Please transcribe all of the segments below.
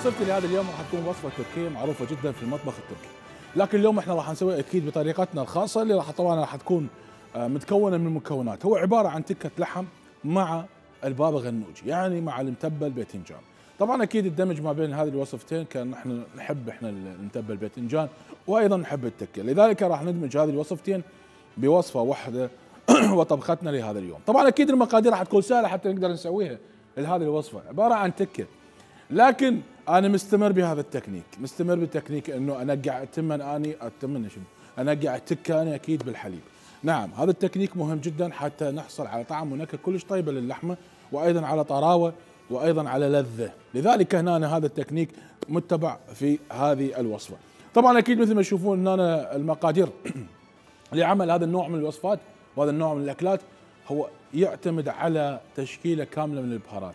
وصفتي لهذا اليوم راح تكون وصفه تركيه معروفه جدا في المطبخ التركي، لكن اليوم احنا راح نسويها اكيد بطريقتنا الخاصه اللي راح تكون متكونه من مكونات. هو عباره عن تكه لحم مع البابا غنوجي، يعني مع المتبل باذنجان. طبعا اكيد الدمج ما بين هذه الوصفتين كان احنا نحب المتبل باذنجان وايضا نحب التكه، لذلك راح ندمج هذه الوصفتين بوصفه واحده وطبختنا لهذا اليوم. طبعا اكيد المقادير راح تكون سهله حتى نقدر نسويها لهذه الوصفه، عباره عن تكه، لكن انا مستمر بهذا التكنيك، مستمر بالتكنيك انه انقع انقع التكه انا اكيد بالحليب. نعم هذا التكنيك مهم جدا حتى نحصل على طعم ونكهه كلش طيبه للحمه، وايضا على طراوه، وايضا على لذه، لذلك هنا هذا التكنيك متبع في هذه الوصفه. طبعا اكيد مثل ما تشوفون ان انا المقادير لعمل هذا النوع من الوصفات وهذا النوع من الاكلات هو يعتمد على تشكيله كامله من البهارات.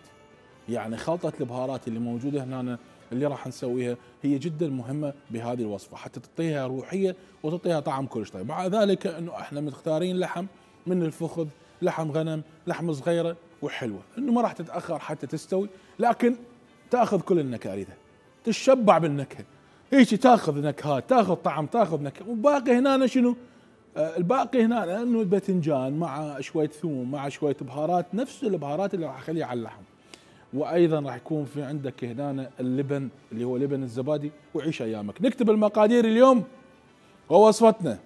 يعني خلطه البهارات اللي موجوده هنا اللي راح نسويها هي جدا مهمه بهذه الوصفه حتى تعطيها روحيه وتعطيها طعم كلش طيب. مع ذلك انه احنا مختارين لحم من الفخذ، لحم غنم، لحم صغيره وحلوه، انه ما راح تتاخر حتى تستوي، لكن تاخذ كل النكهه اريدها، تشبع بالنكهه، هيك تاخذ نكهات، تاخذ طعم، تاخذ نكهه، والباقي هنا شنو؟ الباقي هنا انه الباذنجان مع شويه ثوم مع شويه بهارات، نفس البهارات اللي راح اخليها على اللحم. وايضا راح يكون في عندك هنا اللبن اللي هو لبن الزبادي، وعيش ايامك. نكتب المقادير اليوم ووصفتنا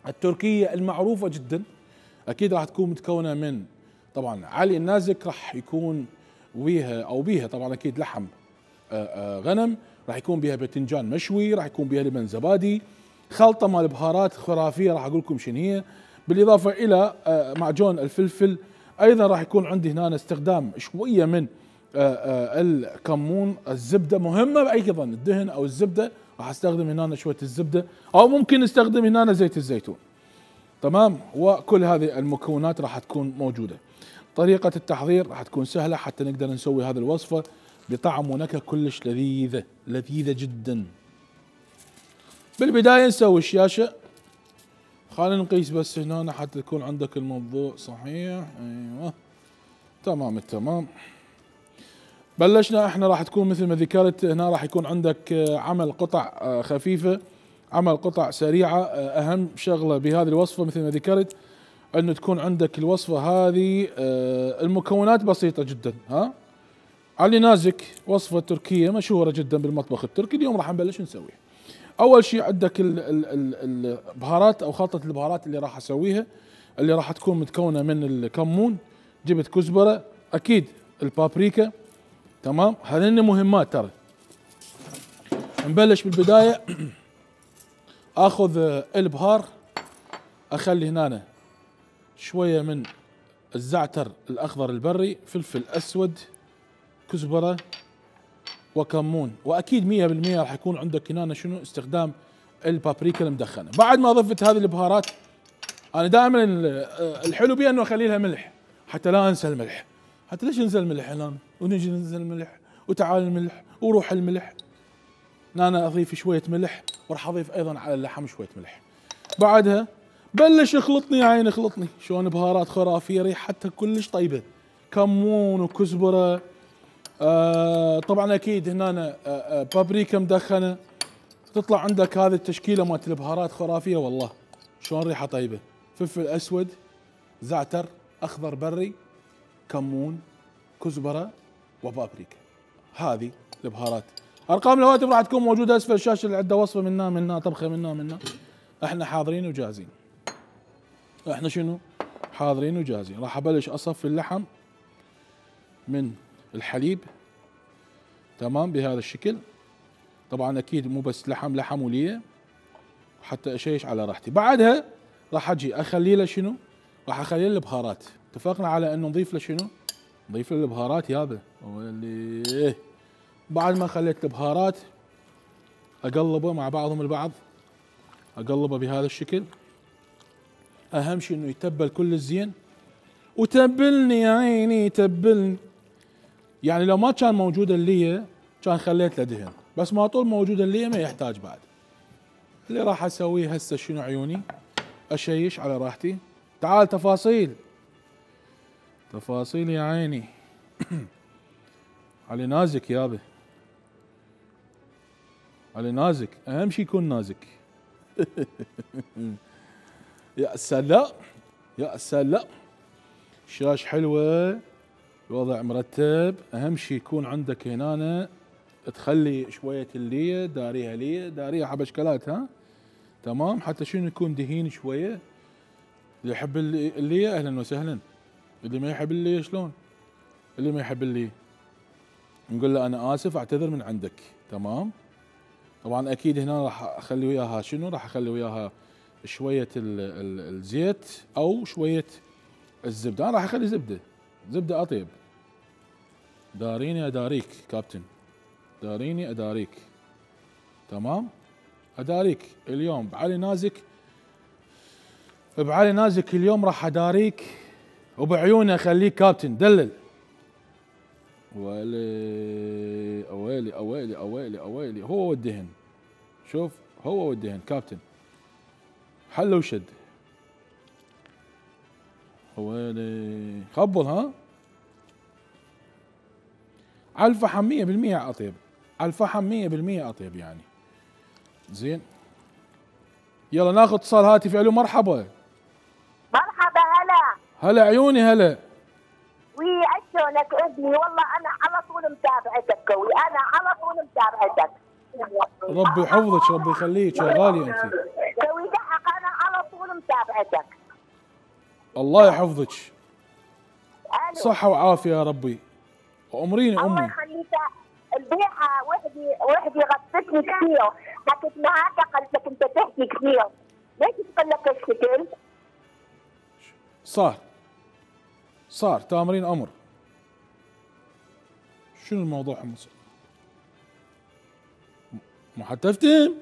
التركيه المعروفه جدا، اكيد راح تكون متكونه من طبعا علي النازك، راح يكون بيها طبعا اكيد لحم غنم، راح يكون بيها باذنجان مشوي، راح يكون بيها لبن زبادي، خلطه مال بهارات خرافيه راح اقول لكم شنو هي، بالاضافه الى معجون الفلفل. ايضا راح يكون عندي هنا استخدام شويه من الكمون، الزبده مهمه ايضا، الدهن او الزبده راح استخدم هنا شويه الزبده، او ممكن نستخدم هنا زيت الزيتون. تمام، وكل هذه المكونات راح تكون موجوده. طريقه التحضير راح تكون سهله حتى نقدر نسوي هذه الوصفه بطعم ونكهه كلش لذيذه جدا. بالبدايه نسوي الشاشه، خلينا نقيس بس هنا حتى يكون عندك الموضوع صحيح. ايوه تمام التمام. بلشنا احنا راح تكون مثل ما ذكرت هنا راح يكون عندك عمل قطع خفيفه، عمل قطع سريعه. اهم شغله بهذه الوصفه مثل ما ذكرت انه تكون عندك الوصفه هذه المكونات بسيطه جدا. علي نازك وصفه تركيه مشهوره جدا بالمطبخ التركي، اليوم راح نبلش نسويها. اول شيء عندك البهارات او خلطه البهارات اللي راح اسويها، اللي راح تكون متكونه من الكمون، جبت كزبره، اكيد البابريكا. تمام، هذين مهمات ترى. نبلش بالبدايه اخذ البهار، اخلي هنا شويه من الزعتر الاخضر البري، فلفل اسود، كزبره وكمون، واكيد 100% راح يكون عندك هنا شنو استخدام البابريكا المدخنه. بعد ما ضفت هذه البهارات، انا دائما الحلو بها انه اخلي لها ملح حتى لا انسى الملح. حتى ليش ننسى الملح الان ونجي ننزل الملح وتعال الملح وروح الملح؟ انا اضيف شويه ملح، وراح اضيف ايضا على اللحم شويه ملح. بعدها بلش يخلطني يا عيني، خلطني شلون بهارات خرافيه ريحتها كلش طيبه، كمون وكزبره، طبعا اكيد هنا بابريكا مدخنه، تطلع عندك هذه التشكيله مالت البهارات خرافيه والله شلون ريحه طيبه. فلفل اسود، زعتر اخضر بري، كمون، كزبره وبابريكا، هذه البهارات. ارقام الهواتف راح تكون موجوده اسفل الشاشه، اللي عنده وصفه منا طبخه منا احنا حاضرين وجاهزين. احنا شنو حاضرين وجاهزين. راح ابلش اصفي اللحم من الحليب، تمام بهذا الشكل. طبعا اكيد مو بس لحم وليه، حتى اشيش على راحتي. بعدها راح اجي اخلي له شنو؟ راح اخلي له البهارات. اتفقنا على انه نضيف له شنو؟ نضيف له البهارات يابا. واللي بعد ما خليت البهارات اقلبه مع بعضهم البعض، اقلبه بهذا الشكل. اهم شيء انه يتبل كل الزين، وتبلني يا عيني تبلني. يعني لو ما كان موجود الليه كان خليت له دهن، بس ما طول موجود الليه ما يحتاج بعد. اللي راح اسويه هسه شنو عيوني؟ اشيش على راحتي. تعال تفاصيل يا عيني. علي نازك يابا. علي نازك، اهم شيء يكون نازك. يا سلام يا سلام، شاش حلوه، الوضع مرتب، اهم شيء يكون عندك هنا تخلي شويه الليه داريها ليه، داريها حبشكلات ها، تمام، حتى شنو يكون دهين شويه. اللي يحب الليه اهلا وسهلا، اللي ما يحب الليه شلون؟ اللي ما يحب الليه نقول له انا اسف اعتذر من عندك، تمام. طبعا اكيد هنا راح اخلي وياها شنو؟ راح اخلي وياها شويه الزيت او شويه الزبده، انا راح اخلي زبده، زبده اطيب. داريني اداريك كابتن، داريني اداريك، تمام. اداريك اليوم بعلي نازك، بعلي نازك اليوم راح اداريك وبعيوني اخليك كابتن دلل. ويلي اويلي اويلي اويلي اويلي، هو والدهن، شوف هو والدهن كابتن، حل وشد. ويلي خبل ها، على الفحم 100% اطيب، على الفحم 100% اطيب يعني. زين يلا ناخذ اتصال هاتفي. الو مرحبا. مرحبا هلا. هلا عيوني هلا. وي عشونك ابني، والله انا على طول متابعتك كوي، انا على طول متابعتك. ربي يحفظك، ربي يخليك يا غالية انت. كوي دحق انا على طول متابعتك. الله يحفظك. ألو. صحة وعافية يا ربي. وامريني الله امي. يخليك. البيعة وحدي غطتني كثير، حكيت معاك قلت لك انت تحكي كثير، ليش تقول لك الشكل؟ صار تامرين امر. شنو الموضوع حمص؟ مو حتى افتهم.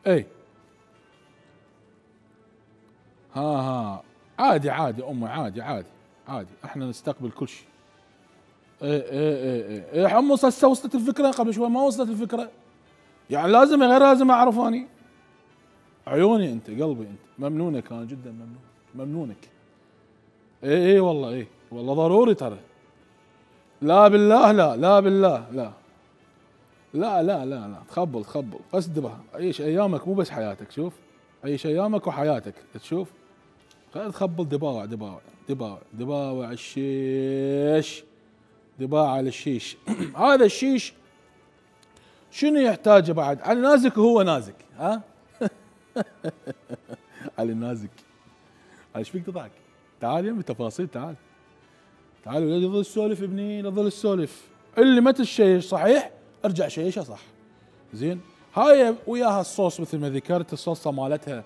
اي ها عادي عادي امي، عادي عادي عادي، احنا نستقبل كل شيء. ايه حمص هسه وصلت الفكره، قبل شوي ما وصلت الفكره، يعني لازم غير لازم اعرف اني. عيوني انت قلبي انت، ممنونك انا جدا ممنون، ممنونك. ايه والله، ايه والله ضروري ترى. لا بالله لا، لا بالله لا، لا لا لا لا، تخبل قصد بها، عيش ايامك مو بس حياتك، شوف عيش ايامك وحياتك، تشوف خلينا تخبل دباوع دباوع دباوع دباوع الشيش، دباع على الشيش. هذا الشيش شنو يحتاجه بعد؟ علي نازك وهو نازك ها. علي نازك، ايش فيك تضحك؟ تعال يم تفاصيل، تعال تعال لا تظل تسولف ابني، لا تظل تسولف. اللي ما تشيش صحيح ارجع شيشه صح. زين هاي وياها الصوص مثل ما ذكرت، الصلصه مالتها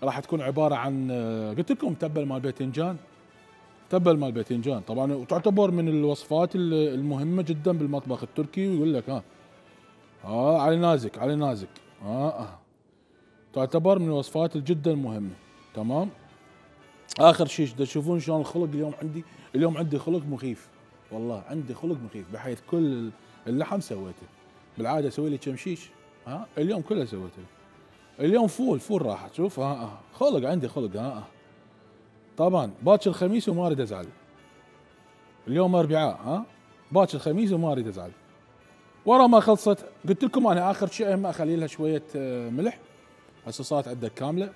راح تكون عباره عن قلت لكم تبل مال باذنجان، تبل مال باذنجان طبعا، وتعتبر من الوصفات المهمه جدا بالمطبخ التركي. ويقول لك علي نازك علي نازك تعتبر من الوصفات الجدا المهمه، تمام. اخر شيء تشوفون شلون الخلق اليوم عندي، اليوم عندي خلق مخيف، والله عندي خلق مخيف، بحيث كل اللحم سويته. بالعاده اسوي لي كم شيش، اليوم كله سويته. اليوم فول راحت، شوف خلق عندي خلق طبعا باكر الخميس وما اريد ازعل. اليوم اربعاء باكر الخميس وما اريد ازعل. ورا ما خلصت قلت لكم انا اخر شيء اهم اخلي لها شويه ملح، هسه صارت عندك كامله.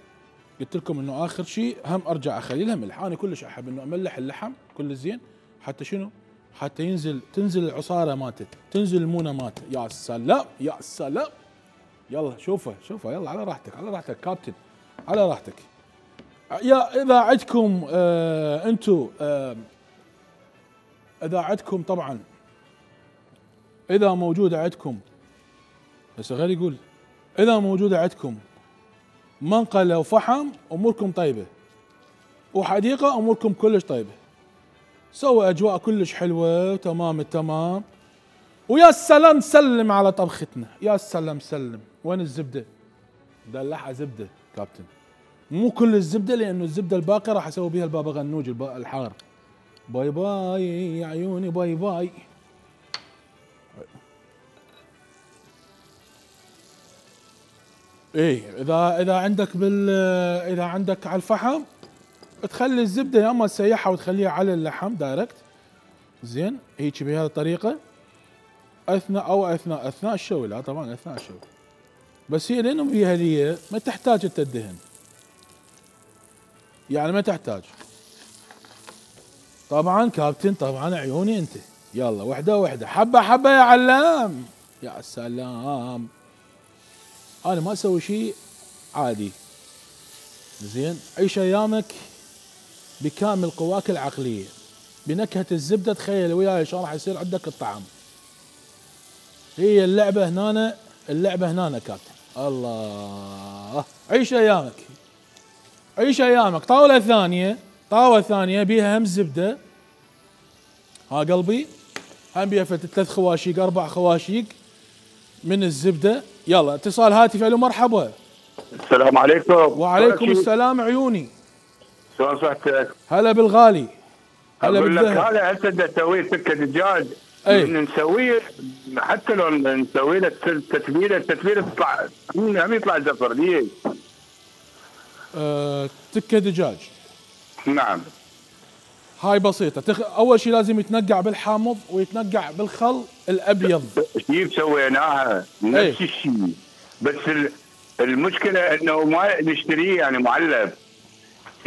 قلت لكم انه اخر شيء هم ارجع اخلي لها ملح، انا كلش احب انه املح اللحم كل زين، حتى شنو؟ حتى تنزل العصاره مالته، تنزل المونه مالته. يا سلام يا سلام. يلا شوفه يلا على راحتك، على راحتك كابتن، على راحتك. يا اذا عندكم انتم اذا عندكم طبعا، اذا موجوده عندكم، بس غير يقول اذا موجوده عندكم منقله وفحم اموركم طيبه، وحديقه اموركم كلش طيبه، سوى اجواء كلش حلوه وتمام التمام. ويا سلام سلم على طبختنا، يا سلام سلم. وين الزبده؟ دلعها زبده كابتن، مو كل الزبده لانه الزبده الباقيه راح اسوي بها البابا غنوج الحار. باي باي يا عيوني، باي باي. ايه اذا عندك اذا عندك على الفحم تخلي الزبده يا اما تسيحها وتخليها على اللحم دايركت، زين هيك بهذه الطريقه. اثناء الشوي، لا طبعا اثناء الشوي. بس هي لانه فيها ليه ما تحتاج انت الدهن، يعني ما تحتاج. طبعا كابتن، طبعا عيوني انت. يلا وحده وحده، حبه حبه يا علام. يا سلام، انا ما اسوي شيء عادي. زين، عيش ايامك بكامل قواك العقليه، بنكهه الزبده. تخيل وياي شلون راح يصير عندك الطعم. هي اللعبه هنا، اللعبه هنا كابتن. الله، عيش ايامك، عيش ايامك. طاوله ثانيه، طاوله ثانيه بيها هم زبده. ها قلبي، هم بيها 3 خواشيق 4 خواشيق من الزبده. يلا اتصال هاتف. الو مرحبا. السلام عليكم. وعليكم السلام عيوني. شلون صحتك؟ هلا بالغالي، هلا اقول لك بالذهب. هذا هسه تسوي سكه دجاج. اي نسويه حتى لو نسوي له التتبيله تطلع هم يطلع زفر ليش؟ تكه دجاج. نعم. هاي بسيطة. أول شيء لازم يتنقع بالحامض ويتنقع بالخل الأبيض. كيف سويناها نفس الشيء، بس المشكلة إنه ما نشتريه يعني معلب،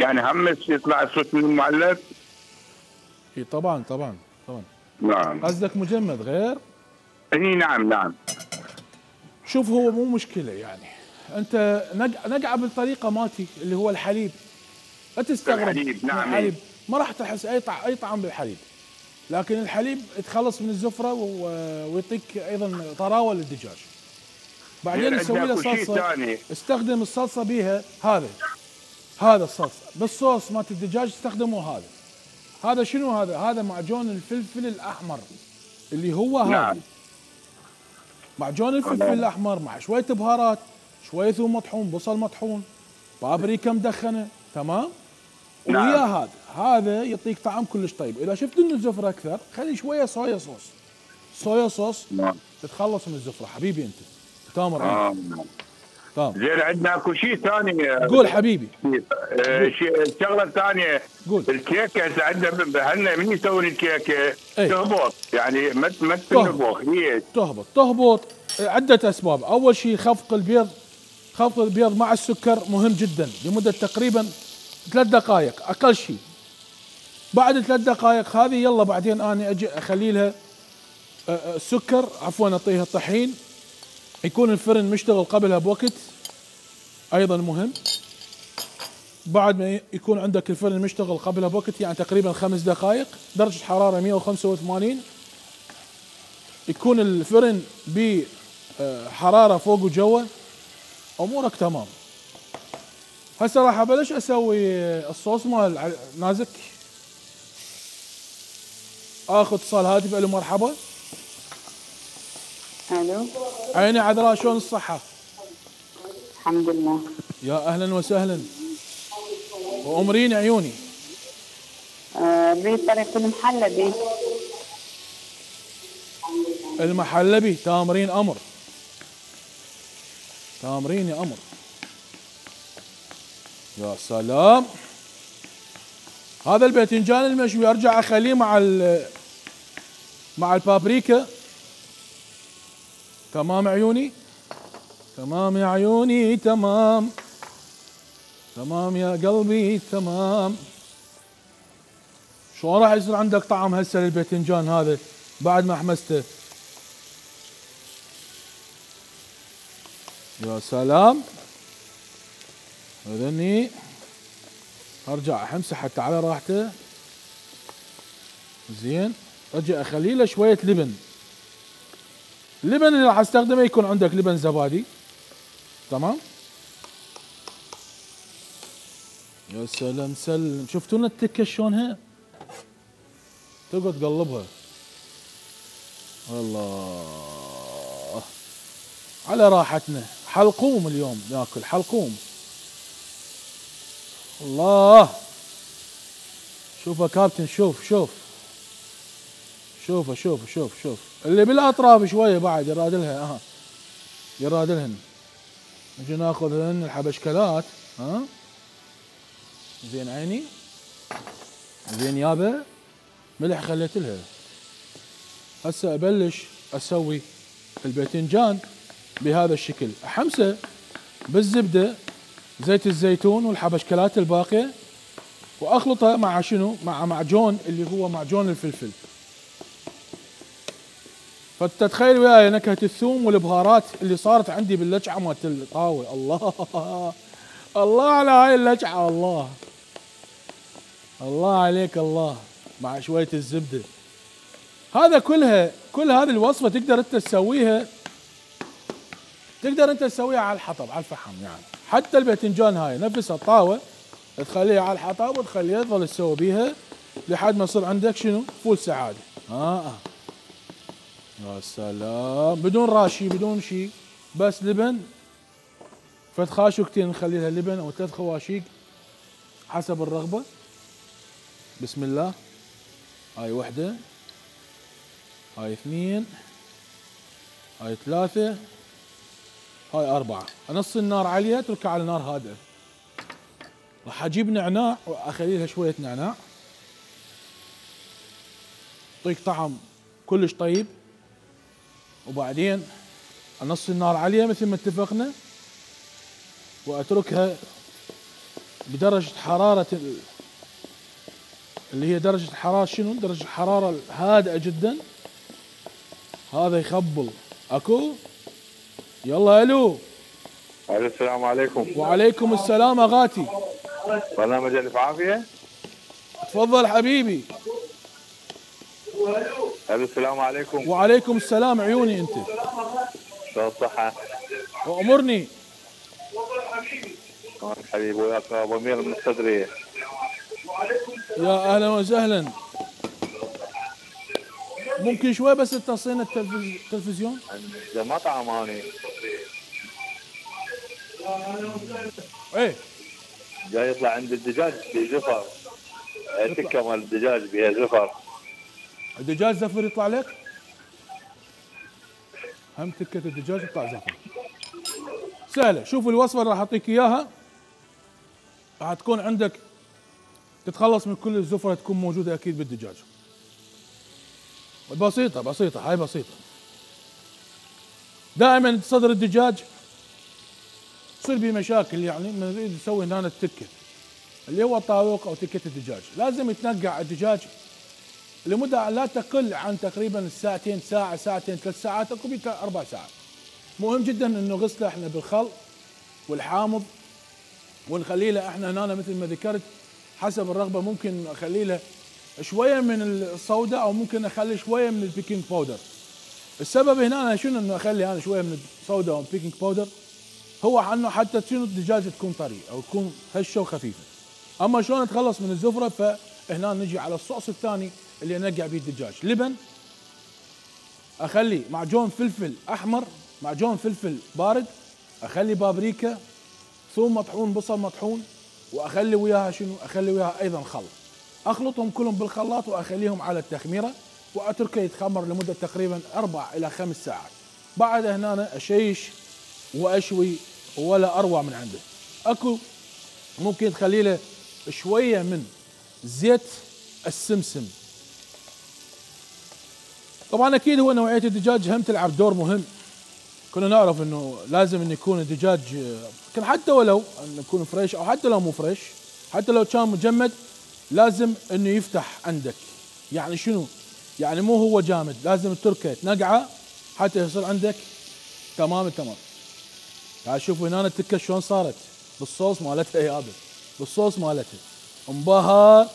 يعني هم يطلع الصوت من المعلب. اي طبعا طبعا طبعا. نعم. قصدك مجمد غير؟ اي نعم نعم. شوف، هو مو مشكلة يعني. أنت نقعه بالطريقة مالتي اللي هو الحليب. لا تستغرب. الحليب نعم. الحليب ما راح تحس أي طعم بالحليب، لكن الحليب يتخلص من الزفرة ويعطيك أيضا طراوة للدجاج. بعدين نسوي له صلصة. استخدم الصلصة بيها هذا الصلصة بالصوص مالت الدجاج استخدموا هذا شنو هذا معجون الفلفل الأحمر اللي هو هذا. نعم. معجون الفلفل الأحمر مع شوية بهارات، شوية ثوم مطحون، بصل مطحون، بابريكا مدخنة، تمام؟ نعم. ويا هذا يعطيك طعم كلش طيب. إذا شفت إنه الزفرة أكثر خلي شوية صويا صوص. نعم. تتخلص من الزفرة حبيبي أنت. تامر. تمام. زين، عندنا اكو شيء ثاني. قول حبيبي. الشغله الثانيه، قول. الكيكه هسه عندنا هلا من يسوي الكيكه تهبط، يعني ما تنبخ. ليش؟ تهبط عده اسباب. اول شيء خفق البيض مع السكر مهم جدا لمده تقريبا 3 دقائق اقل شيء. بعد 3 دقائق هذه يلا بعدين انا اجي اخلي لها السكر، عفوا اعطيها الطحين، يكون الفرن مشتغل قبلها بوقت ايضا مهم. بعد ما يكون عندك الفرن مشتغل قبلها بوقت يعني تقريبا 5 دقائق، درجة حرارة 185، يكون الفرن بحرارة فوق وجوا، امورك تمام. هسه راح ابلش اسوي الصوص مال نازك. اخذ اتصال هاتف. الو مرحبا. الو. عيني عذراء، شلون الصحة؟ الحمد لله. يا اهلا وسهلا، وامرين عيوني. اريد طريقة المحلبي. تامرين امر، تامرين يا امر. يا سلام. هذا الباذنجان المشوي ارجع اخليه مع البابريكا. تمام عيوني، تمام يا عيوني، تمام تمام يا قلبي، تمام. شلون راح يصير عندك طعم هسه للباذنجان هذا بعد ما حمسته؟ يا سلام. اذني ارجع احمسه حتى على راحته. زين، اجي اخلي له شويه لبن. اللبن اللي راح استخدمه يكون عندك لبن زبادي، تمام. يا سلام سلم. شفتونا التكه شلونها؟ تقعد تقلبها. الله، على راحتنا. حلقوم اليوم ناكل حلقوم. الله، شوف يا كابتن، شوف شوف اللي بالاطراف شويه بعد يرادلها. يرادلهن. نجي ناخذهن الحبشكلات. زين عيني، زين يابا. ملح خليت لها. هسه ابلش اسوي الباذنجان بهذا الشكل، احمسه بالزبده زيت الزيتون والحبشكلات الباقيه، واخلطها مع شنو؟ مع معجون اللي هو معجون الفلفل. فتتخيل وياي نكهه الثوم والبهارات اللي صارت عندي باللجعه مالت الطاوه. الله الله على هاي اللجعه، الله الله عليك الله، مع شويه الزبده. هذا كل هذه الوصفه تقدر انت تسويها، على الحطب على الفحم يعني. حتى الباذنجان هاي نفسها الطاوه تخليها على الحطب وتخليها تظل تسوي بيها لحد ما يصير عندك شنو؟ فول سعاده. يا سلام، بدون راشي بدون شيء، بس لبن، فد خاشوقتين نخلي لها لبن او 3 خواشيق حسب الرغبه. بسم الله. هاي 1، هاي 2، هاي 3، هاي 4. نص النار عاليه، اتركها على نار هادئه. راح اجيب نعناع واخلي لها شويه نعناع، يعطيك طعم كلش طيب. وبعدين نص النار عاليه مثل ما اتفقنا، واتركها بدرجه حراره اللي هي درجه الحراره شنو؟ درجه الحراره هادئه جدا. هذا يخبل. اكو؟ يلا الو. السلام عليكم. وعليكم السلام اغاتي. برنامج الف عافيه. تفضل حبيبي. السلام عليكم. وعليكم السلام عيوني انت. شو الصحة؟ وامرني. حبيبي وياك ابو امير من الصدرية. يا اهلا وسهلا. ممكن شوي بس تصينا التلفزيون؟ ده مطعم هاني. ايه جاي يطلع عند الدجاج بزفر. تكه مال الدجاج بها زفر. الدجاج زفر يطلع لك؟ هم تكة الدجاج يطلع زفر. سهلة، شوف الوصفة اللي راح اعطيك اياها، راح تكون عندك تتخلص من كل الزفرة تكون موجودة اكيد بالدجاج. بسيطة هاي بسيطة. دائما صدر الدجاج تصير بيه مشاكل، يعني من نريد نسوي هنا التكة اللي هو الطاووق او تكة الدجاج، لازم يتنقع الدجاج لمدة لا تقل عن تقريبا ساعتين، ساعتين 3 ساعات، اكو 4 ساعات. مهم جدا انه غسله احنا بالخل والحامض، ونخلي له احنا هنا مثل ما ذكرت حسب الرغبه، ممكن اخلي له شويه من الصودا او ممكن اخلي شويه من البيكنج باودر. السبب هنا أنا شنو انه اخلي انا شويه من الصودا او البيكنج باودر، هو انه حتى شنو الدجاجه تكون طري او تكون هشه وخفيفه. اما شلون اتخلص من الزفره، فهنا نجي على الصوص الثاني اللي انقع به الدجاج. لبن، اخلي معجون فلفل احمر، معجون فلفل بارد، اخلي بابريكا، ثوم مطحون، بصل مطحون، واخلي وياها شنو؟ اخلي وياها ايضا خل. اخلطهم كلهم بالخلاط واخليهم على التخميره، واتركه يتخمر لمده تقريبا 4 إلى 5 ساعات. بعد هنا اشيش واشوي ولا اروع من عنده. اكو ممكن تخلي له شويه من زيت السمسم. طبعا اكيد هو نوعيه الدجاج هم تلعب دور مهم. كنا نعرف انه لازم انه يكون الدجاج كان حتى ولو انه يكون فريش او حتى لو مو فريش، حتى لو كان مجمد لازم انه يفتح عندك. يعني شنو؟ يعني مو هو جامد، لازم تتركه تنقعه حتى يصير عندك تمام التمام. تعال شوفوا هنا التكه شلون صارت بالصوص مالتها يابا، بالصوص مالتها انبهر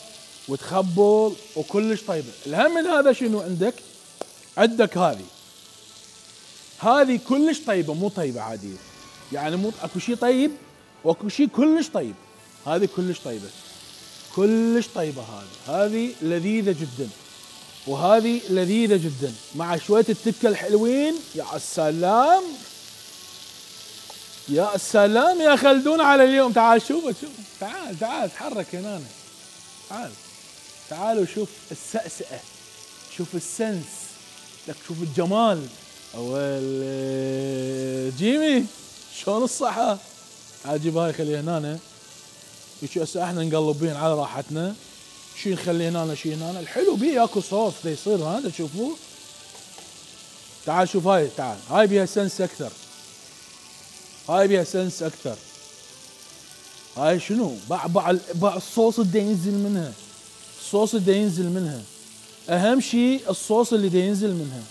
وتخبل وكلش طيبه. الهم من هذا شنو عندك هذه كلش طيبه، مو طيبه عاديه، يعني مو اكو شيء طيب واكو شيء كلش طيب. هذه كلش طيبه، كلش طيبه. هذه لذيذه جدا، وهذه لذيذه جدا مع شويه التكه الحلوين. يا سلام يا سلام يا خلدون على اليوم. تعال شوف تعال تحرك هنا، تعال وشوف السأسئة، شوف السنس، لك شوف الجمال. اول جيمي شلون الصحة؟ عجيب. هاي خليها هنا، شو هسه احنا نقلب بين على راحتنا. شي نخلي هنا شي هنا. الحلو بيه اكو صوص دا يصير هذا، تشوفوه تعال شوف هاي، تعال هاي بيها سنس اكثر، هاي بيها سنس اكثر. هاي شنو؟ باع الصوص اللي ينزل منها، الصوص اللي ينزل منها، اهم شيء الصوص اللي ينزل منها.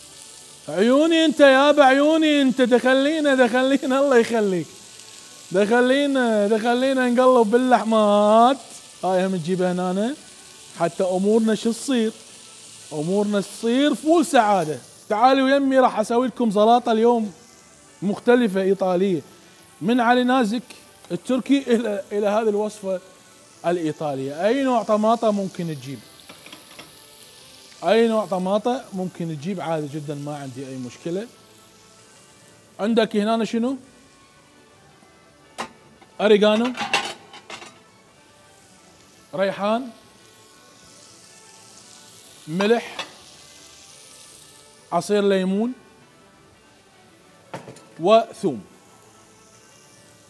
عيوني انت يابا، عيوني انت، دخلينا الله يخليك، دخلينا نقلب باللحمات. هاي هم تجيبها هنا حتى امورنا شو تصير؟ امورنا تصير فول سعاده. تعالوا يمي راح اسوي لكم سلطه اليوم مختلفه ايطاليه، من علي نازك التركي الى هذه الوصفه الايطاليه. اي نوع طماطه ممكن تجيب، اي نوع طماطه ممكن تجيب عادي جدا، ما عندي اي مشكله. عندك هنا شنو؟ أريغانو، ريحان، ملح، عصير ليمون، وثوم.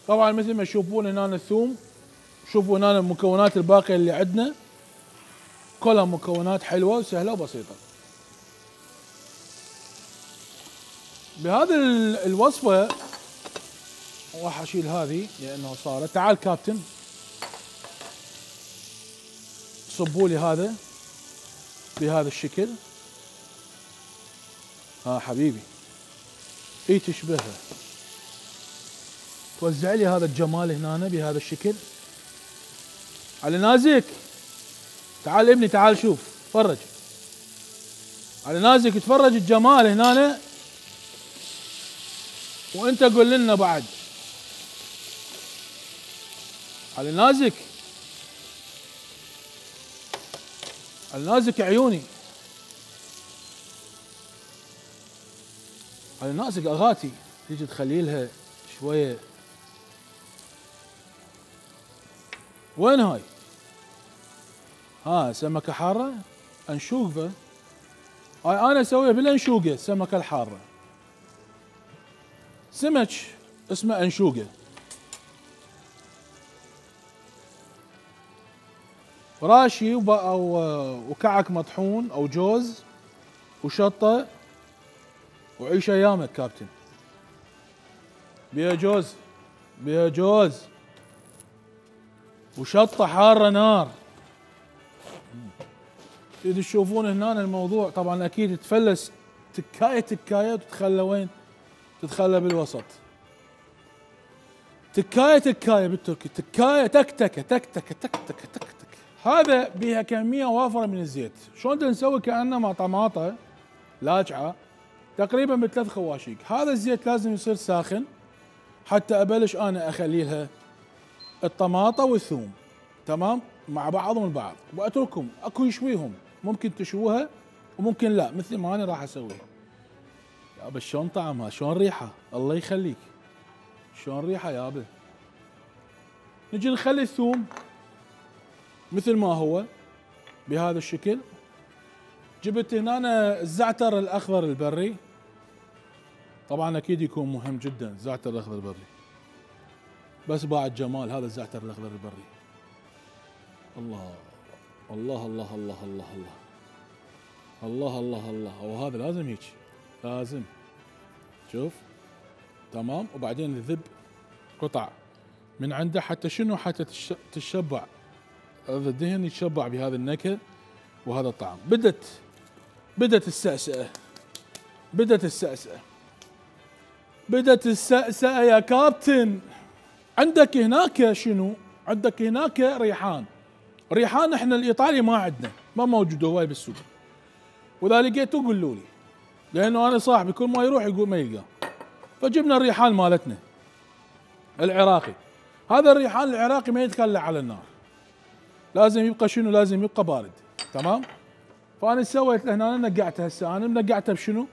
طبعا مثل ما تشوفون هنا الثوم، شوفوا هنا المكونات الباقية اللي عندنا كلها مكونات حلوة وسهلة وبسيطة. بهذه الوصفة راح اشيل هذه لانه صارت. تعال كابتن، صبوا لي هذا بهذا الشكل. ها حبيبي، اي تشبهها. توزع لي هذا الجمال هنا بهذا الشكل. علي نازك، تعال ابني، تعال شوف، تفرج. علي نازك، تفرج الجمال هنا وانت قول لنا بعد. علي نازك، علي نازك عيوني، علي نازك اغاتي. تيجي تخلي لها شويه. وين هاي؟ ها سمكه حاره، انشوقه. هاي انا اسويها بالانشوقه، السمكه الحاره. سمك اسمه انشوقه. راشي وكعك مطحون او جوز وشطه، وعيش ايامك كابتن. بيها جوز، بيها جوز وشطه حاره نار. اذا تشوفون هنا الموضوع طبعا اكيد تفلس تكايه وتتخلى وين؟ تتخلى بالوسط. تكايه بالتركي، تكايه تكتكه تكتكه تكتكه تكتكه. هذا بها كميه وافره من الزيت. شلون نسوي كانه مع طماطه لاجعه تقريبا ب3 خواشيق. هذا الزيت لازم يصير ساخن حتى ابلش انا اخلي لها الطماطه والثوم تمام مع بعضهم البعض، واتركهم اكو يشويهم. ممكن تشووها وممكن لا، مثل ما انا راح اسوي. يابا شلون طعمها، شلون ريحه، الله يخليك، شلون ريحه يابا. نجي نخلي الثوم مثل ما هو بهذا الشكل. جبت هنا الزعتر الاخضر البري، طبعا اكيد يكون مهم جدا الزعتر الاخضر البري، بس بعد جمال هذا الزعتر الاخضر البري. الله الله الله الله الله الله الله الله الله. وهذا لازم هيك، لازم شوف تمام. وبعدين نذب قطع من عنده حتى شنو؟ حتى تتشبع، هذا الدهن يتشبع بهذا النكهه وهذا الطعم. بدت السأسأة، بدت السأسأة، بدت السأسأة يا كابتن. عندك هناك شنو؟ عندك هناك ريحان. ريحان احنا الايطالي ما عندنا، ما موجود هواي بالسوق، واذا لقيتوه قولوا لي، لانه انا صاحبي كل ما يروح يقول ما يلقاه. فجبنا الريحان مالتنا العراقي. هذا الريحان العراقي ما يتخلى على النار، لازم يبقى شنو؟ لازم يبقى بارد تمام. فانا سويت له هنا نقعته. هسه انا منقعته بشنو؟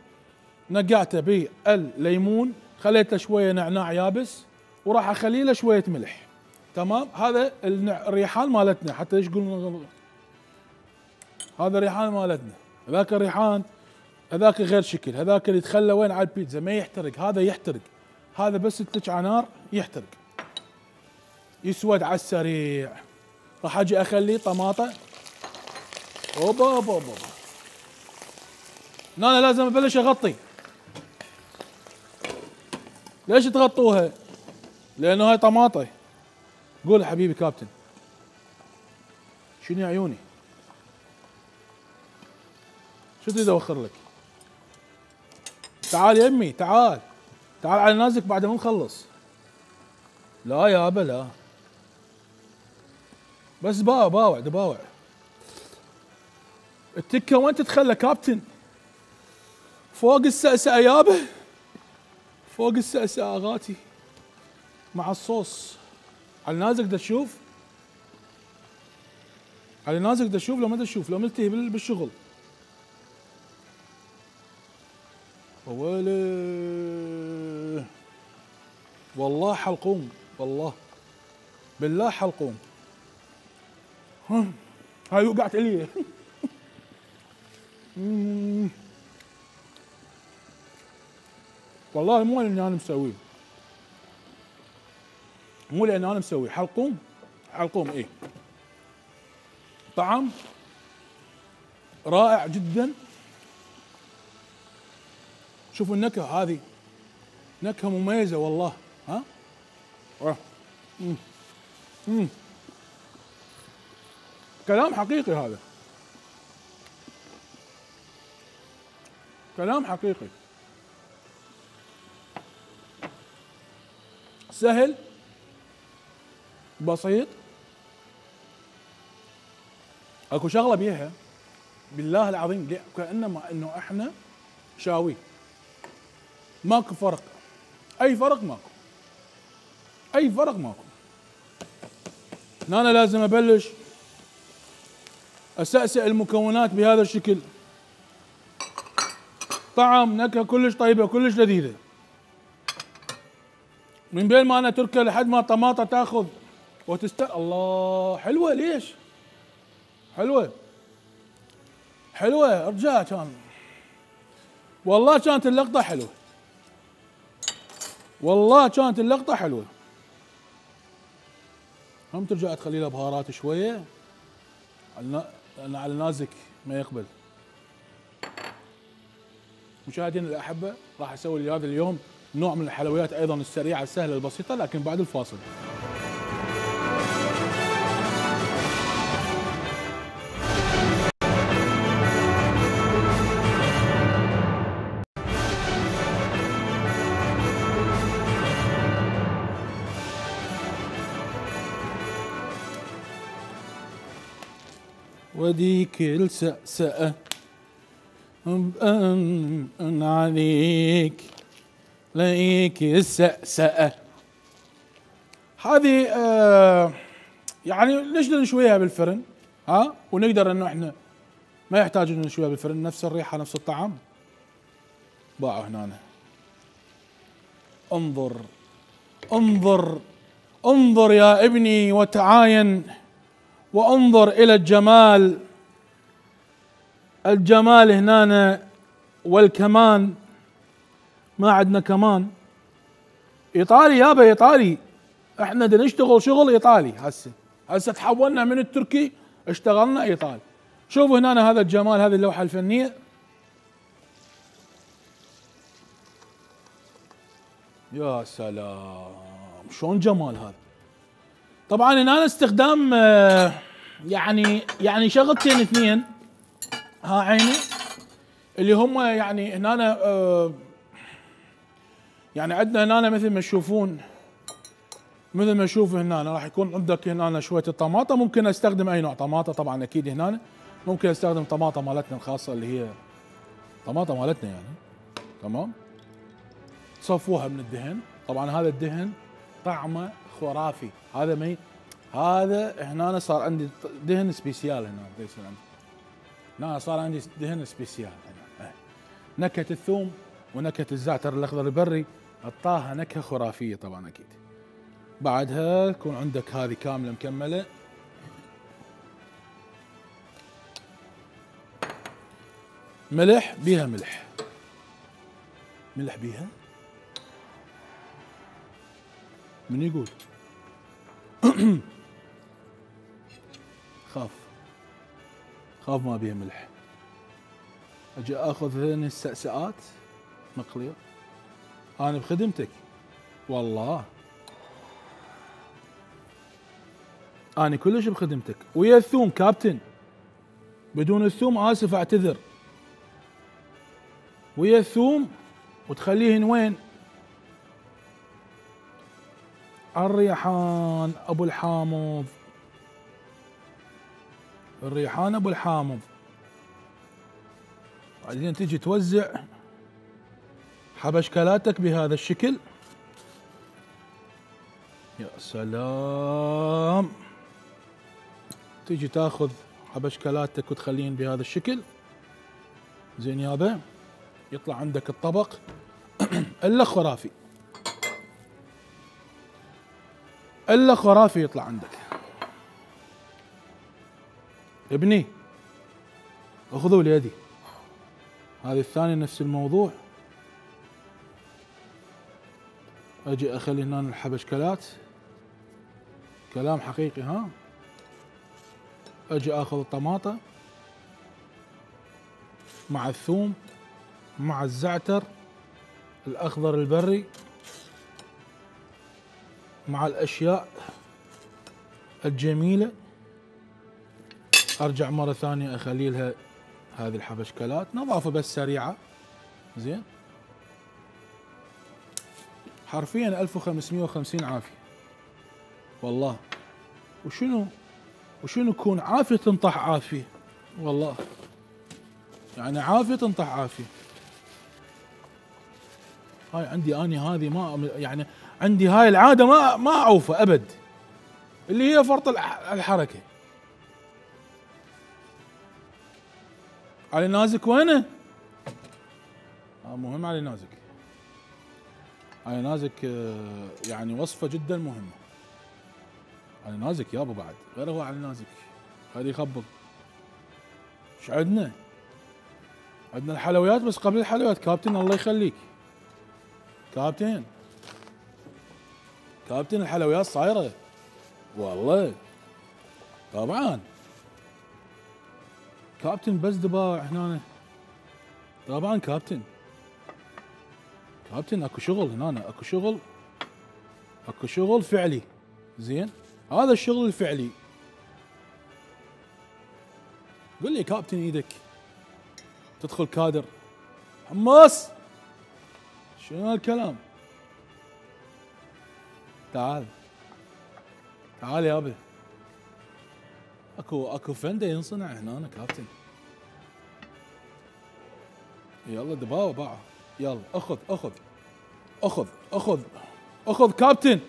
نقعته بالليمون، خليته شويه نعناع يابس، وراح اخلي له شويه ملح تمام. هذا الريحان مالتنا، حتى ليش يقولون هذا الريحان مالتنا. هذاك الريحان هذاك غير شكل، هذاك اللي يتخلى وين؟ على البيتزا، ما يحترق. هذا يحترق، هذا بس تلج على نار يحترق، يسود على السريع. راح اجي اخليه طماطه. اوبا اوبا اوبا. انا لازم ابلش اغطي، ليش تغطوها؟ لانه هاي طماطه. قول يا حبيبي كابتن. شنو يا عيوني؟ شو تريد اوخر لك؟ تعال يا امي تعال. تعال على نازك بعد ما نخلص. لا يابا لا. بس باوع باوع. التكه وين تتخلى كابتن؟ فوق السأسأة يابا. فوق السأسأة اغاتي. مع الصوص. على نازك دا تشوف؟ على نازك دا تشوف لو ما دا تشوف لو ملتهي بالشغل. ويلي والله حلقوم والله بالله حلقوم. هاي وقعت علي. والله مو لاني انا مسويه. مو لاني انا مسويه. حلقوم حلقوم ايه. طعم رائع جدا. شوفوا النكهة هذه نكهة مميزة والله. ها؟ كلام حقيقي هذا. كلام حقيقي. سهل بسيط. اكو شغلة بيها بالله العظيم كأنما انه احنا شاوي. ماكو فرق. اي فرق ماكو. اي فرق ماكو. انا لازم ابلش اسأسئ المكونات بهذا الشكل. طعم نكهة كلش طيبة كلش لذيذة. من بين ما انا اتركها لحد ما الطماطة تاخذ الله حلوة. ليش؟ حلوة حلوة ارجع. كان والله كانت اللقطة حلوة. والله كانت اللقطة حلوة. هم ترجع تخلي لها بهارات شوية لأن على نازك ما يقبل. مشاهدينا الأحبة راح أسوي لي هذا اليوم نوع من الحلويات أيضا السريعة السهلة البسيطة لكن بعد الفاصل. وديك السأسأة عليك ليك السأسأة هذه يعني ليش نشويها بالفرن؟ ها ونقدر انه احنا ما يحتاج انه نشويها بالفرن نفس الريحة نفس الطعم. باعوا هنا. انظر انظر انظر يا ابني وتعاين وانظر الى الجمال. الجمال هنا والكمان. ما عندنا كمان. ايطالي يابا ايطالي. احنا بدنا نشتغل شغل ايطالي هسه تحولنا من التركي اشتغلنا ايطالي. شوفوا هنا هذا الجمال هذه اللوحة الفنية. يا سلام شلون جمال هذا. طبعا هنا استخدام يعني شغلتين اثنين. ها عيني اللي هم يعني هنا يعني عندنا هنا مثل ما تشوفون مثل ما تشوف هنا راح يكون عندك هنا شويه الطماطه. ممكن استخدم اي نوع طماطه طبعا اكيد. هنا ممكن استخدم طماطه مالتنا الخاصه اللي هي طماطه مالتنا يعني. تمام. تصفوها من الدهن. طبعا هذا الدهن طعمه خرافي. هذا هنا صار عندي دهن سبيسيال. هنا ليش عندي هنا صار عندي دهن سبيسيال. هنا نكهه الثوم ونكهه الزعتر الاخضر البري اعطاها نكهه خرافيه طبعا اكيد. بعدها يكون عندك هذه كامله مكمله. ملح بيها ملح بيها. من يقول خاف ما بيها ملح. اجي اخذ هذين السأسأات مقليه. انا بخدمتك والله أنا كلش بخدمتك. ويا الثوم كابتن، بدون الثوم آسف أعتذر. ويا الثوم وتخليهن وين؟ الريحان أبو الحامض، الريحان أبو الحامض. بعدين تجي توزع حبشكلاتك بهذا الشكل. يا سلام. تجي تاخذ حبشكلاتك وتخلين بهذا الشكل. زين يابا، يطلع عندك الطبق الا خرافي، الا خرافي يطلع عندك. ابني اخذوا ليدي هذه الثانية نفس الموضوع. اجي اخلي هنا الحبشكلات، كلام حقيقي ها. اجي اخذ الطماطة مع الثوم مع الزعتر الاخضر البري مع الاشياء الجميلة، ارجع مرة ثانية اخلي لها هذه الحبشكلات، نظافة بس سريعة. زين، حرفيا 1550 عافية والله. وشنو كون عافية تنطح عافية والله، يعني عافية تنطح عافية. هاي عندي اني هذه ما يعني عندي هاي العادة ما اعوفها ابد، اللي هي فرط الحركة. علي نازك وينه؟ مهم علي نازك. علي نازك يعني وصفة جدا مهمة. علي نازك يابا بعد غير هو علي نازك، هذه يخبط. ايش عندنا؟ عندنا الحلويات، بس قبل الحلويات كابتن الله يخليك كابتن الحلويات صايرة والله طبعا كابتن، بس دباع هنا طبعا كابتن اكو شغل هنا، اكو شغل فعلي. زين، هذا الشغل الفعلي. قل لي كابتن ايدك تدخل كادر حماس، شنو هالكلام؟ تعال يابا، اكو فنده ينصنع هنا كابتن. يلا دباوة باعه، يلا اخذ كابتن،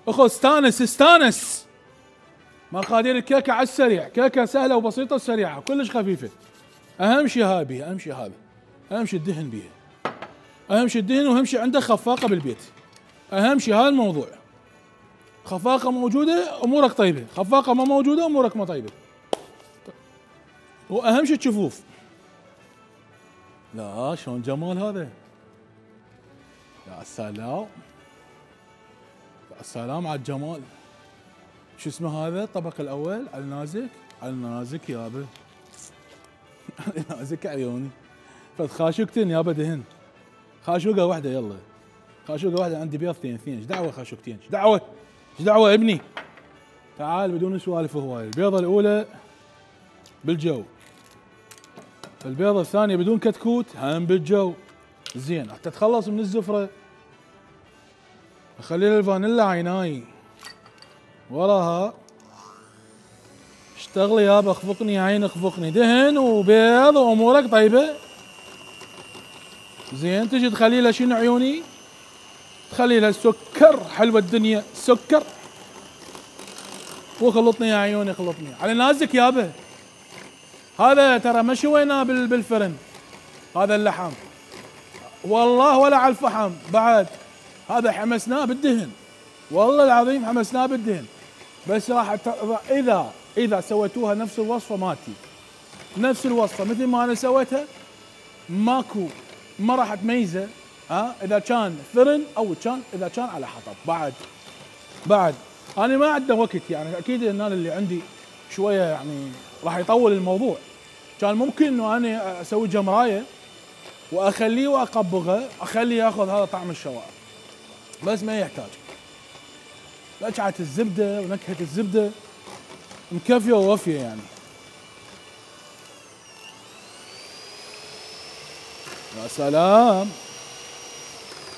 اخذ استانس. مقادير الكيكه على السريع، كيكه سهله وبسيطه وسريعه كلش خفيفه. اهم شيء هذا، اهم شيء الدهن بيها، اهم شيء الدهن، واهم شيء عندك خفاقه بالبيت. اهم شيء هذا الموضوع. خفاقه موجوده امورك طيبه، خفاقه ما موجوده امورك ما طيبه. واهم شيء الجفوف. لا شلون جمال هذا، يا سلام يا سلام على الجمال. شو اسمه هذا الطبق الاول؟ على النازك يابا على النازك عيوني. فد خاشوقتين يابا دهن، خاشوقه واحده. يلا خاشوقه واحده، عندي بيض اثنين. ايش دعوه خاشوقتين؟ ايش دعوه ابني؟ تعال بدون سوالف هوايه. البيضه الاولى بالجو، البيضه الثانيه بدون كتكوت هم بالجو. زين، حتى تخلص من الزفره اخلي الفانيلا عيناي وراها. اشتغلي يابا، اخفقني يا عين اخفقني. دهن وبيض وامورك طيبه. زين، تجي تخلي لها شنو عيوني؟ تخلي لها سكر، حلوه الدنيا سكر. وخلطني يا عيوني خلطني على نازك يابا. هذا ترى ما شويناه بالفرن، هذا اللحم والله ولا على الفحم بعد، هذا حمسناه بالدهن والله العظيم، حمسناه بالدهن. بس راح اذا سويتوها نفس الوصفه مالتي، نفس الوصفه مثل ما انا سويتها، ما راح تميزه. اذا كان فرن او اذا كان على حطب. بعد انا ما عندي وقت، يعني اكيد ان انا اللي عندي شويه يعني راح يطول الموضوع. كان ممكن انه انا اسوي جمرايه واخليه واقبغه، اخليه ياخذ هذا طعم الشوائب. بس ما يحتاج. لجعة الزبدة ونكهة الزبدة مكفية ووفية يعني. يا سلام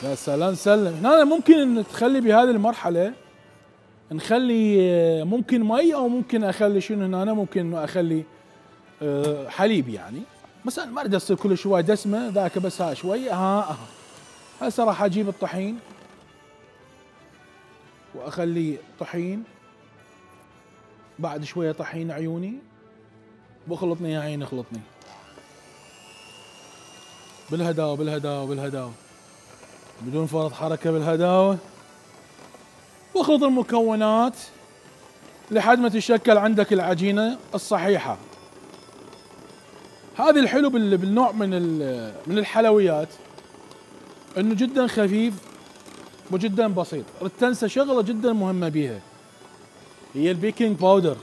يا سلام سلم. هنا ممكن ان تخلي بهذه المرحلة نخلي ممكن مي او ممكن اخلي شنو هنا، ممكن انه اخلي حليب يعني، مثلا ما اريد تصير كل شوي دسمة ذاك بس ها شوي هسه راح اجيب الطحين واخلي طحين، بعد شوية طحين عيوني، بخلطني يا عيني اخلطني بالهداوة بالهداوة بالهداوة بدون فرط حركة بالهداوة، واخلط المكونات لحد ما تتشكل عندك العجينة الصحيحة. هذا الحلو بالنوع من الحلويات انه جدا خفيف وجدا بسيط. تنسى شغلة جدا مهمة بيها هي البيكنج باودر.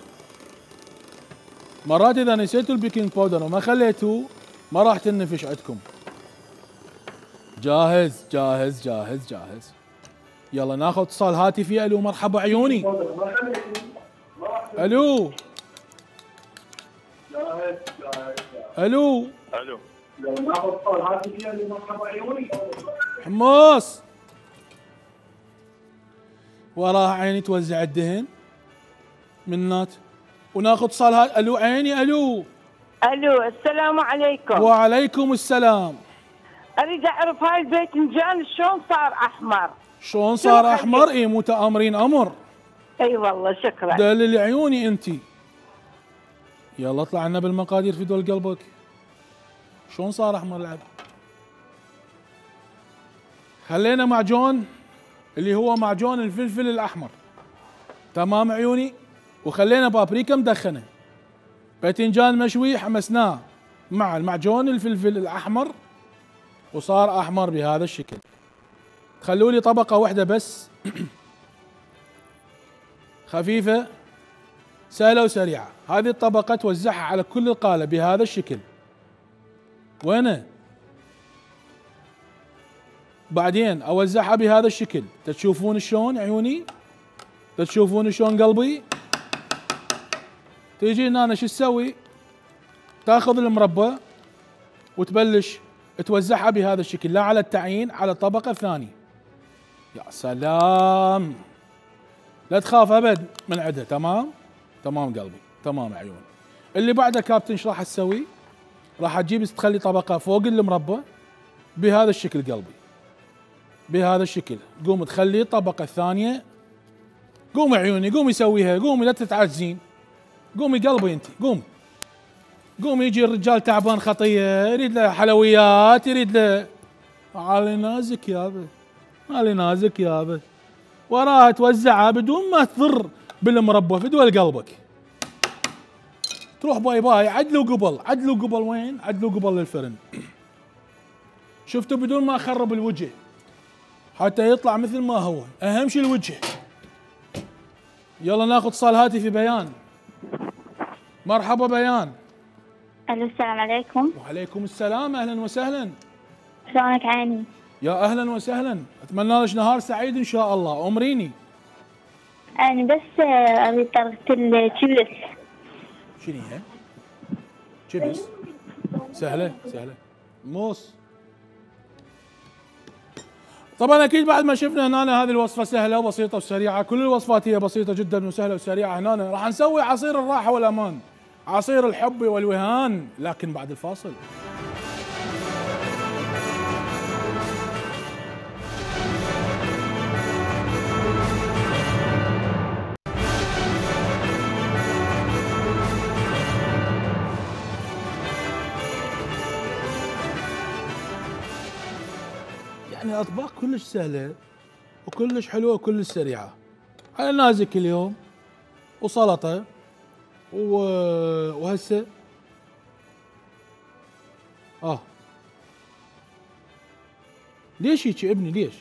مرات اذا نسيتوا البيكنج باودر وما خليتوه ما راح تنفش عندكم. جاهز جاهز جاهز جاهز. يلا ناخذ اتصال هاتفي. الو مرحبا عيوني. الو الو الو حمص وراها عيني توزع الدهن منات. وناخذ اتصال الو عيني. الو السلام عليكم. وعليكم السلام. اريد اعرف هاي الباذنجان شلون صار احمر؟ شلون صار احمر؟ اي متآمرين امر. اي والله شكرا. دلل عيوني انت. يلا اطلع عنا بالمقادير في دول قلبك. شلون صار احمر العب؟ خلينا معجون اللي هو معجون الفلفل الاحمر، تمام عيوني، وخلينا بابريكا مدخنه، باذنجان مشوي حمسناه مع المعجون الفلفل الاحمر وصار احمر بهذا الشكل. خلوا لي طبقه واحده بس خفيفه سهله وسريعه. هذه الطبقه توزعها على كل القالب بهذا الشكل. وينه؟ بعدين اوزعها بهذا الشكل. تشوفون شلون عيوني؟ تشوفون شلون قلبي؟ تيجي هنا شو تسوي؟ تاخذ المربى وتبلش توزعها بهذا الشكل، لا على التعيين، على الطبقه الثانيه. يا سلام، لا تخاف ابد من عندها. تمام تمام قلبي، تمام عيوني. اللي بعده كابتن ايش راح تسوي؟ راح تجيب تخلي طبقه فوق المربى بهذا الشكل قلبي، بهذا الشكل. قوم تخلي الطبقه الثانيه. قومي عيوني، قومي سويها، قومي لا تتعجزين. قومي قلبي انت، قومي قومي. يجي الرجال تعبان خطيه يريد له حلويات، يريد له علي نازك يابا، علي نازك يابا. وراها توزعها بدون ما تضر بالمربى في دول قلبك. تروح باي باي. عدلوا قبل، عدلوا قبل وين؟ عدلوا قبل للفرن. شفتوا؟ بدون ما اخرب الوجه حتى يطلع مثل ما هو. اهم شيء الوجه. يلا ناخذ اتصال هاتفي. بيان. مرحبا بيان. الو السلام عليكم. وعليكم السلام، اهلا وسهلا. شلونك عيني؟ يا اهلا وسهلا، اتمنى لك نهار سعيد ان شاء الله. امريني. انا بس اريد طريقة الشيبس. شنو هي؟ شيبس؟ سهله سهله. موس. طبعا اكيد بعد ما شفنا هنا هذه الوصفه سهله وبسيطه وسريعه. كل الوصفات هي بسيطه جدا وسهله وسريعه. هنا راح نسوي عصير الراحه والامان، عصير الحب والوهان، لكن بعد الفاصل. يعني اطباق كلش سهله وكلش حلوه وكلش سريعه. على نازك اليوم وسلطه وهسه ليش هيك ابني؟ ليش؟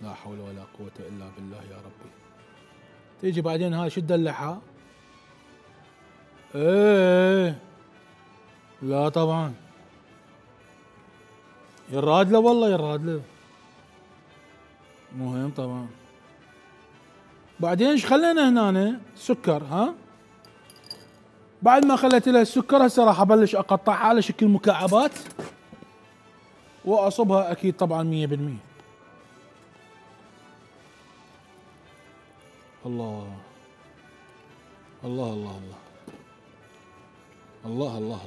لا حول ولا قوه الا بالله يا ربي. تيجي بعدين هاي شو تدلعها؟ ايه لا طبعا يا الرادله، والله يا الرادله. مهم طبعا. بعدين ايش خلينا هنا سكر. ها بعد ما خليت لها السكر هسه راح ابلش اقطعها على شكل مكعبات واصبها اكيد طبعا 100%. الله الله الله الله الله الله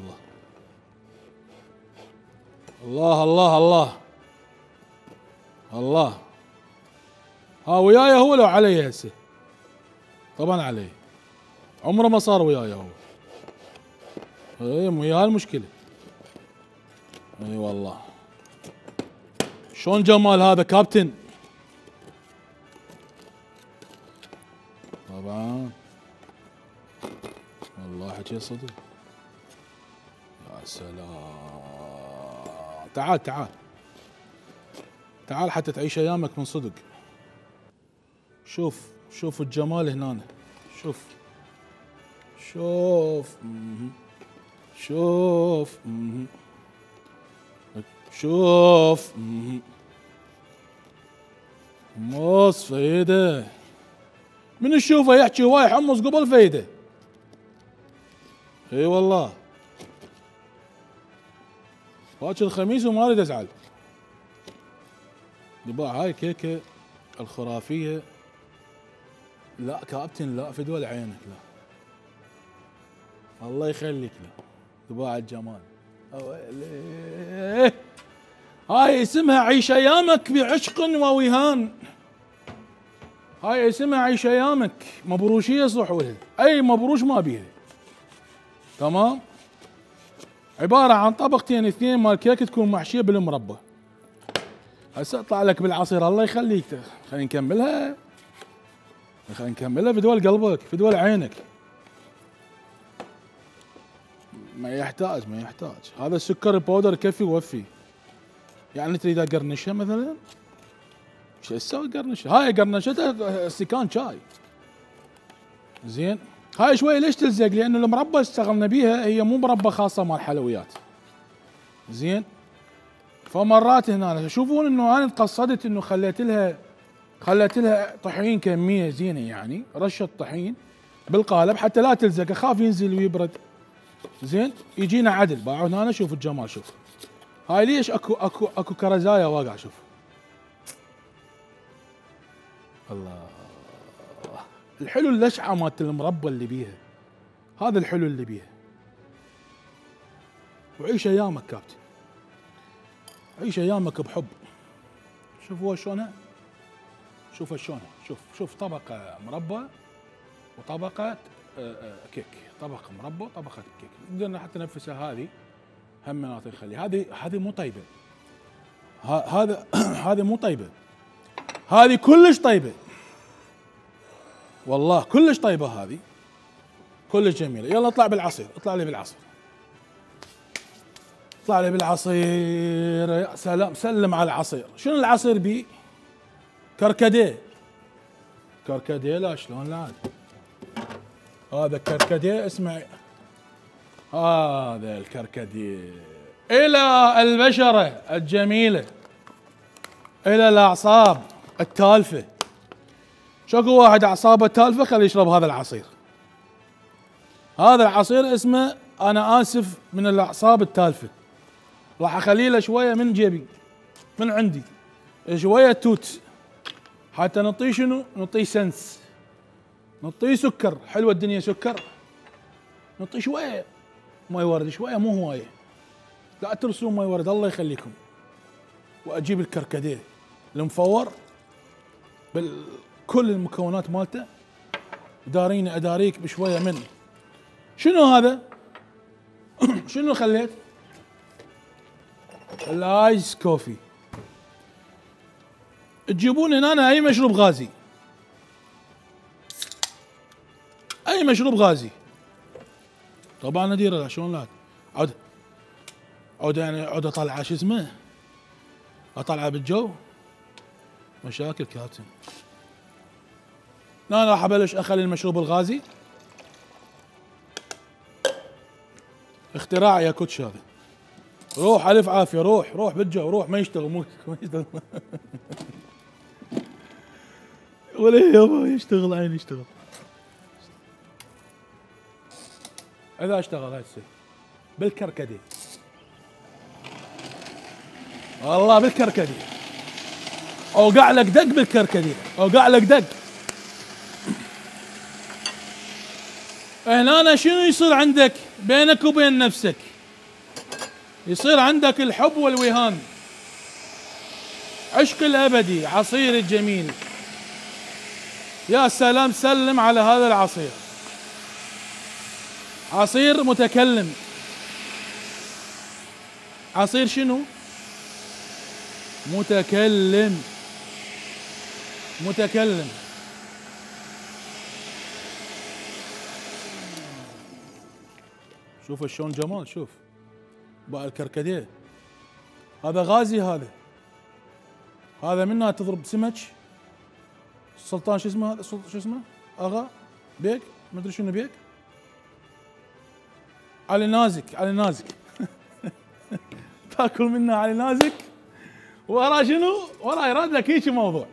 الله الله الله الله الله. ها وياي هو لو علي هسه؟ طبعا علي، عمره ما صار وياي هو. اي ويا المشكلة. اي والله. شلون جمال هذا كابتن؟ طبعا والله حكي صدق. يا سلام. تعال تعال تعال حتى تعيش ايامك من صدق. شوف شوف الجمال هنا. شوف شوف شوف شوف حمص فايدة. من يشوفه يحكي هواي حمص قبل فايدة. اي والله. باكر الخميس وما اريد ازعل. يبا هاي كيكة الخرافية. لا كابتن لا فدوى عينك لا. الله يخليك لا. تباع الجمال. هاي اسمها عيش ايامك بعشق ووهان. هاي اسمها عيش ايامك. مبروشية صح ولها. اي مبروش ما بيها. تمام. عبارة عن طبقتين اثنين مال كيك تكون محشية بالمربى. هسه اطلع لك بالعصير الله يخليك. خلينا نكملها. خلينا نكملها فدوى قلبك فدوى عينك. ما يحتاج ما يحتاج. هذا السكر البودر يكفي ووفي. يعني تريد اقرنشها مثلا؟ شو اسوي قرنشها؟ هاي قرنشتها استكان شاي. زين؟ هاي شوي ليش تلزق؟ لانه المربى اشتغلنا بيها هي مو مربى خاصه مال حلويات. زين؟ فمرات هنا تشوفون انه انا تقصدت انه خليت لها طحين كميه زينه يعني رشه طحين بالقالب حتى لا تلزق اخاف ينزل ويبرد. زين؟ يجينا عدل. باعوا هنا شوف الجمال شوف. هاي ليش اكو كرزايه واقع شوف. الله الحلو اللشعه مالت المربى اللي بيها. هذا الحلو اللي بيها. وعيش ايامك كابتن. عيش ايامك بحب. شوفوا شلونها. شوفوا شلونها. شوف طبقه مربى وطبقه كيك. طبقه مربى وطبقه كيك. نقدر حتى نفسها هذه هم مناطق نخليها. هذه مو طيبه. هذه مو طيبه. هذه كلش طيبه. والله كلش طيبه هذه. كلش جميله. يلا اطلع بالعصير. اطلع لي بالعصير. اطلع لي بالعصير. يا سلام. سلم على العصير. شنو العصير بيه؟ كركديه. كركديه لا شلون لا. هذا كركديه اسمع. هذا الكركديه الى البشره الجميله الى الاعصاب التالفه. شكو واحد اعصابه تالفه خليه يشرب هذا العصير. هذا العصير اسمه انا اسف من الاعصاب التالفه. راح اخلي له شويه من جيبي من عندي شويه توت حتى نعطيه شنو؟ نعطيه سنس. نعطيه سكر. حلوه الدنيا سكر. نعطيه شويه ماي ورد شويه مو هوايه. لا ترسلون ماي ورد الله يخليكم. واجيب الكركديه المفور بكل المكونات مالته. داريني اداريك بشويه من شنو هذا؟ شنو خليت؟ الايس كوفي. تجيبون هنا اي مشروب غازي. اي مشروب غازي. طبعا نديره شلون لا عود يعني عود اطلع شو اسمه؟ اطلعه بالجو. مشاكل كابتن. انا راح ابلش اخلي المشروب الغازي. اختراع يا كوتش هذا. روح الف عافيه. روح بالجو. روح ما يشتغل. مو يشتغل. ولا يابا يشتغل عيني يشتغل. اذا اشتغل هسه بالكركدي والله بالكركدي اوقع لك دق بالكركدي اوقع لك دق. هنا شنو يصير عندك بينك وبين نفسك؟ يصير عندك الحب والوهان، عشق الابدي، عصير الجميل. يا سلام، سلم على هذا العصير، عصير متكلم. عصير شنو؟ متكلم. متكلم. شوف شلون جمال، شوف بقى الكركديه هذا غازي، هذا منها تضرب سمك. السلطان شو اسمه هذا؟ شو اسمه؟ اغا بيك، ما ادري شنو بيك. علي نازك، علي نازك تاكل منها علي نازك، وراه شنو؟ وراه يراد لك هيك موضوع.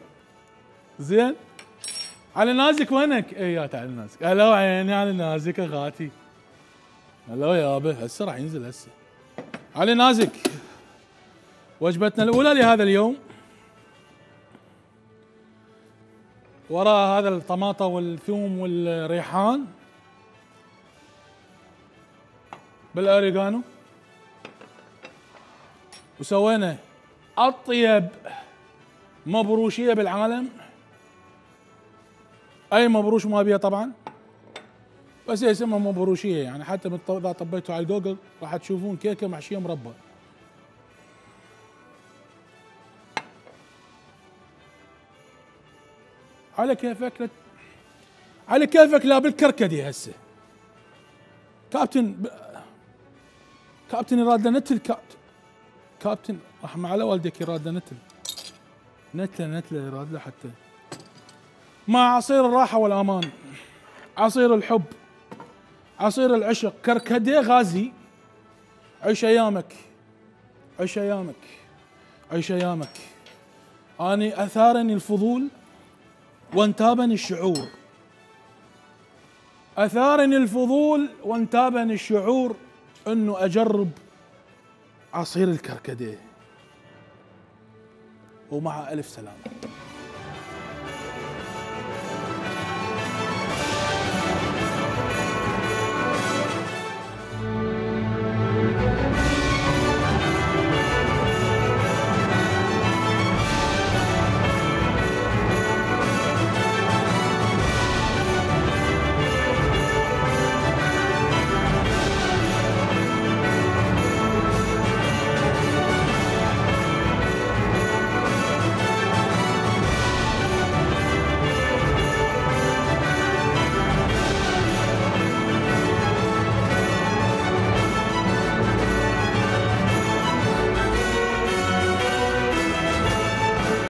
زين، علي نازك وينك؟ ايات علي نازك. هلا عيني علي نازك اخاتي. هلا يابا، هسه راح ينزل هسه. علي نازك، وجبتنا الاولى لهذا اليوم. وراء هذا الطماطة والثوم والريحان بالأوريغانو، وسوينا أطيب مبروشية بالعالم. أي مبروش ما بيها طبعا، بس هي اسمها مبروشية يعني. حتى إذا طبيتوا على جوجل راح تشوفون كيكة محشية مربى. على كيفك، على كيفك. لا بالكركدي هسه. كابتن يراد نتل. كابتن رحمة على والدك يراد نتل يراد له حتى مع عصير الراحة والأمان، عصير الحب، عصير العشق، كركدي غازي. عيش أيامك، عيش أيامك، عيش أيامك. أني أثارني الفضول وانتابني الشعور، أثارني الفضول وانتابني الشعور أنه أجرب عصير الكركديه. ومع ألف سلامة.